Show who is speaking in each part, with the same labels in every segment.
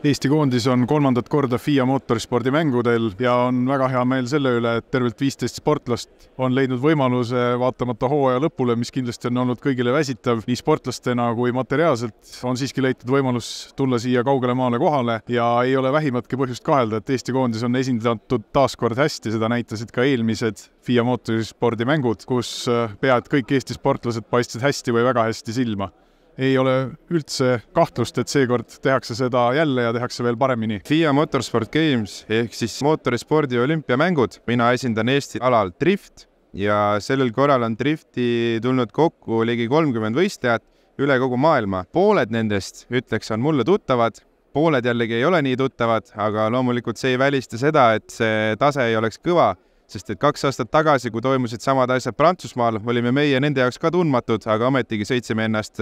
Speaker 1: Eesti koondis on 3. korda FIA mootorispordimängudel ja on väga hea meel selle üle, et tervelt 15 sportlast on leidnud võimaluse vaatamata hooaja lõpule, mis kindlasti on olnud kõigile väsitav, nii sportlastena kui materiaalselt, on siiski leitud võimalus tulla siia kaugele maale kohale ja ei ole vähimatki põhjust kahelda, et Eesti koondis on esindatud taaskord hästi, seda näitasid ka eelmised FIA mootorispordimängud, kus peaaegu kõik Eesti sportlased paistsid hästi või väga hästi silma. Ei ole üldse kahtlust, et seekord tehakse seda jälle ja tehakse veel paremini.
Speaker 2: FIA Motorsport Games ehk siis mootorispordi olümpiamängud. Mina esindan Eesti alal drift ja sellel korral on drifti tulnud kokku ligi 30 võistlejat üle kogu maailma. Pooled nendest, ütleks, on mulle tuttavad, pooled jällegi ei ole nii tuttavad, aga loomulikult see ei välista seda, et see tase ei oleks kõva, sest et 2 aastat tagasi, kui toimusid samad asjad Prantsusmaal, olime meie nende jaoks ka tundmatud, aga ometigi sõitsime ennast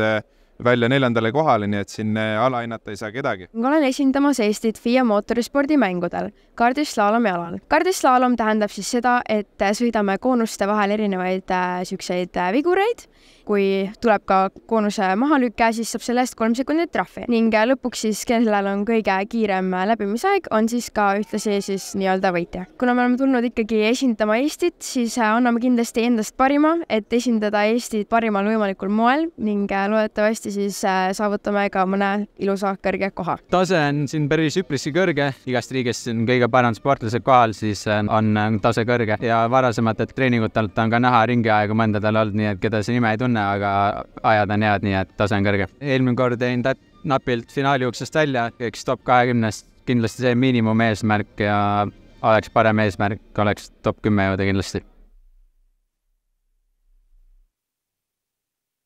Speaker 2: välja 4. kohale, nii et siin alahinnata ei saa kedagi.
Speaker 3: Olen esindamas Eestit FIA mootorispordimängudel kardislaalomi alal. Kardislaalom tähendab siis seda, et sõidame koonuste vahel erinevaid vigureid. Kui tuleb ka koonuse mahalükke, siis saab selle eest 3 sekundit trahvi. Ning lõpuks siis, kellel on kõige kiirem läbimisaeg, on siis ka ühtlasi siis nii-öelda võitja. Kuna me oleme tulnud ikkagi esindama Eestit, siis anname kindlasti endast parima, et esindada Eestit parimal võimalikul moel ning loodetavasti siis saavutame ka mõne ilusa kõrge koha.
Speaker 4: Tase on siin päris üpriski kõrge. Igast riigist on kõige parem sportlased kohal, siis on tase kõrge. Ja varasemalt treeningutelt on ka näha ringiaegu mõndadel olnud, nii et keda see nime ei tunne, aga ajad on head, nii et tase on kõrge. Eelmine kord tein napilt finaaliuksest välja, üks top 20, kindlasti see miinimum eesmärk ja oleks parem eesmärk, oleks top 10 jõuda kindlasti.